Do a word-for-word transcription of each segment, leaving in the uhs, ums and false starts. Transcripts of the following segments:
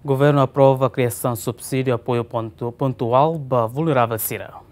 Governu aprova kriasaun subsídiu apoiu pontu- pontuál ba vulneravel sira.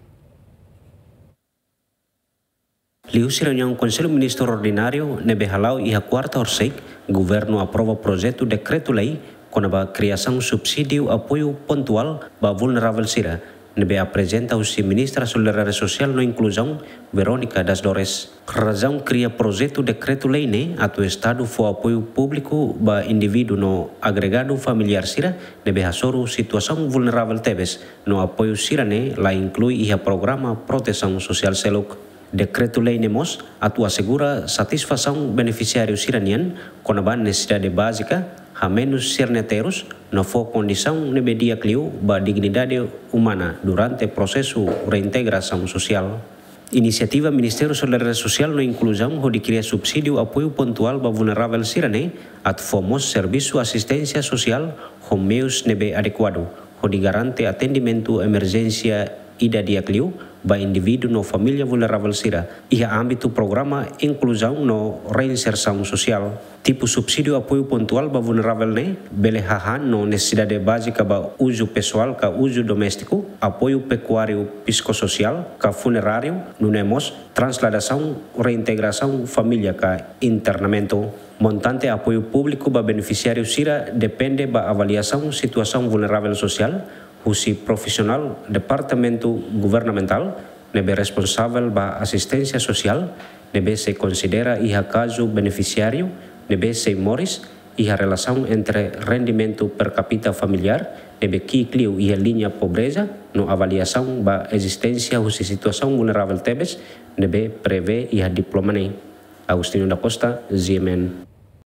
Liuhusi reuniaun Konsellu Ministru Ordináriu ne'ebé hala'o iha kuarta horisehik, Governu aprova projetu dekretu-lei kona-ba kriasaun subsídiu apoiu pontuál ba vulneravel sira, ne'ebé aprezenta husi Ministra Solidariedade Sosiál no Inkluzaun, Verónica das Dores. Razaun kria projetu dekretu-lei ne'e atu Estadu fó apoiu públiku ba indivíduu no agregadu familiár sira ne'ebé hasoru situasaun vulneravel tebes, no apoiu sira-ne'e la inklui iha programa protesaun sosiál seluk. Dekretu-lei ne'e mós atu asegura satisfasaun benefisiáriu sira-nian kona-ba nesesidade bázika, hamenus sira-nia terus, no fó kondisaun ne'ebé di'ak liu ba dignidade umana durante prosesu reintegrasaun sosiál. Inisiativa Ministériu Solidariedade Sosiál no Inkluzaun hodi kria subsídiu apoiu pontuál ba vulneravel sira-ne'e atu fó mós servisu asisténsia sosiál ho meius ne'ebé adekuadu, hodi garante atendimentu emerjénsia ida di'ak liu ba indivíduu no família vulneravel sira iha ámbitu programa inkluzaun no reinsersaun sosiál. Tipu subsídiu apoiu pontuál ba vulneravel ne'e bele hahán no nesesidade bázika ba uzu pesoál ka uzu doméstiku, apoiu pekuáriu psikossosiál ka funeráriu, nune'e mós trasladasaun, reintegrasaun família ka internamentu. Montante apoiu públiku ba benefisiáriu sira depende ba avaliasaun situasaun vulneravel sosiál husi profisionál departamentu governamentál ne'ebé responsavel ba asisténsia sosiál, ne'ebé sei konsidera iha kazu benefisiáriu ne'ebé sei moris iha relasaun entre rendimentu per capita familiár ne'ebé ki'ik liu iha liña pobreza no avaliasaun ba ezisténsia husi situasaun vulneravel tebes ne'ebé prevee iha diploma ne'e. Agostinho da Costa, G M N.